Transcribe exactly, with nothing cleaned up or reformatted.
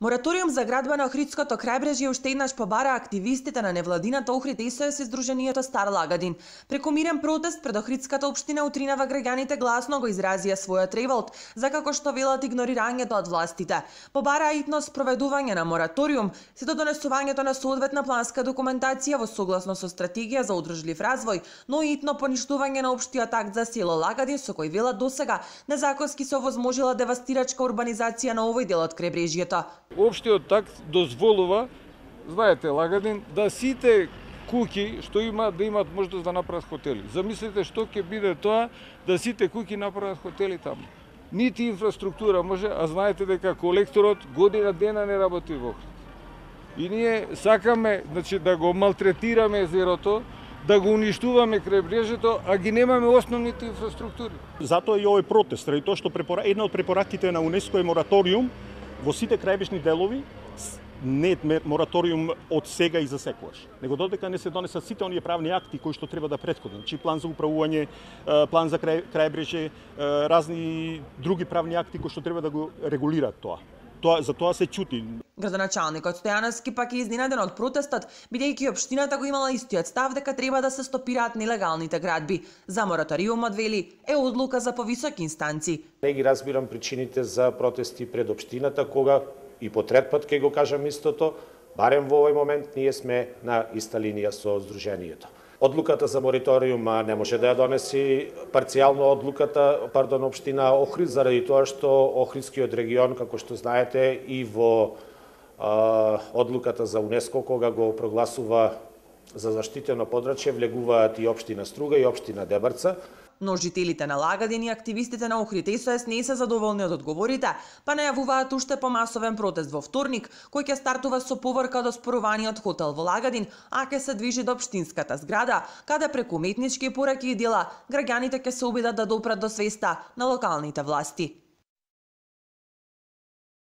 Мораториум за градба на Охридското крајбрежје уште еднаш побара активистите на невладината Охрид ес-о-ес и Сдруженијето Стар Лагадин. Преку мирен протест пред Охридската општина утринава граѓаните гласно го изразија својот револт за како што велат игнорирањето од властите. Побара итно спроведување на мораториум се до донесувањето на соодветна планска документација во согласно со стратегија за одржлив развој, но и итно поништување на општиот акт за село Лагадин со кој велат досега незаконски се овозможила девастирачка урбанизација на овој дел од крајбрежјето. Општиот акт дозволува, знаете, Лагадин, да сите куќи што имаат да имаат можност да направат хотели. Замислете што ќе биде тоа да сите куќи направат хотели таму. Нити инфраструктура може, а знаете дека колекторот година дена не работи во Охрид. И ние сакаме, значи, да го малтретираме езерото, да го уништуваме крајбрежјето, а ги немаме основните инфраструктури. Затоа и овој протест, ради тоа што препора... една од препораките на УНЕСКО е мораториум во сите крајбрежни делови, не е мораториум од сега и за секогаш, него додека не се донесат сите оние правни акти кои што треба да претходат, значи план за управување, план за крај, крајбрежје, разни други правни акти кои што треба да го регулираат тоа. Тоа за тоа се чути. Градоначалникот Стојановски пак е изненаден од протестот, бидејќи општината го имала истиот став дека треба да се стопираат нелегалните градби. За мораториумот, вели, е одлука за повисоки инстанци. Не ги разбирам причините за протести пред општината, кога и по трет пат ќе го кажам истото, барем во овој момент ние сме на иста линија со Сдруженијето. Одлуката за мораториум не може да ја донеси парцијално одлуката, пардон, општина Охрид, заради тоа што Охридскиот регион, како што знаете, и во а, одлуката за УНЕСКО, кога го прогласува за заштитено подрачје, влегуваат и општина Струга и општина Дебарца. Но жителите на Лагадин и активистите на Охрид ес-о-ес не се задоволни од одговорите, па најавуваат уште помасовен протест во вторник, кој ќе стартува со поврка од оспоруваниот хотел во Лагадин, а ќе се движи до општинската зграда, каде преку уметнички пораки и дела граѓаните ќе се обидат да допрат до свеста на локалните власти.